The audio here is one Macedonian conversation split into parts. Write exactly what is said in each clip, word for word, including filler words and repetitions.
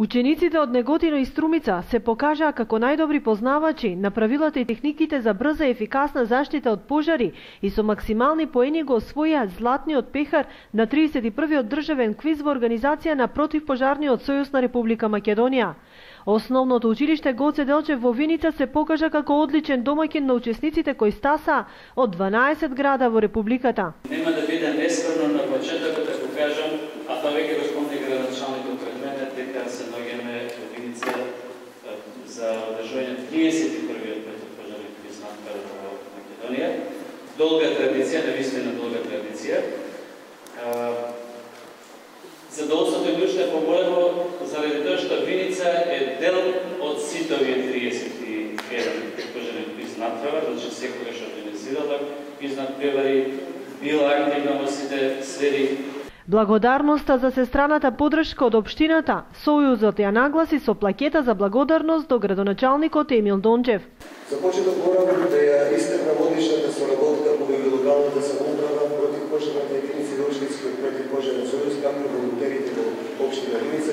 Учениците од Неготино и Струмица се покажаа како најдобри познавачи на правилата и техниките за брза и ефикасна заштита од пожари и со максимални поени го освоија златниот пехар на тридесет и првиот државен квиз во организација на Противпожарниот сојуз на Република Македонија. Основното училиште Гоце Делчев во Виница се покажа како одличен домаќин на учесниците кои стасаа од дванаесет града во Републиката. Нема да биде нескромно на почетокот да го кажам, а тоа веќе го спомни градоначалникот пред мене, дека се наоѓаме во Виница за одржување тридесет и првиот противпожарен квиз во Македонија. Долга традиција, навистина долга традиција. Задоволството е уште поголемо заради тоа што Виница е дел од сите овие тридесет и еден противпожарен квиз натпревар, значи секогаш организирала квиз натпревари, била активна во сите сфери. Благодарноста за сестраната поддршка од општината, Сојузот ја нагласи со плакета за благодарност до градоначалникот Емил Дончев. За почеток морам да ја истакнам одличната соработка помеѓу локалната самоуправа, противпожарната единица и општинскиот противпожарен сојуз, както волонтерите во општина Виница,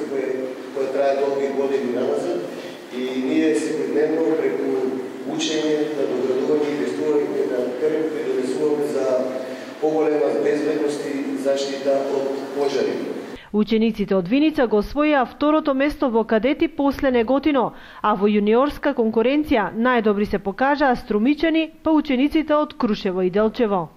која трае долги години назад, и ние секојдневно преку учење, надоградување и инвестување на терен придонесуваме за поголема безбедност и заштита од пожари. Учениците од Виница го освоија второто место во кадети после Неготино, а во јуниорска конкуренција најдобри се покажаа струмичани, па учениците од Крушево и Делчево.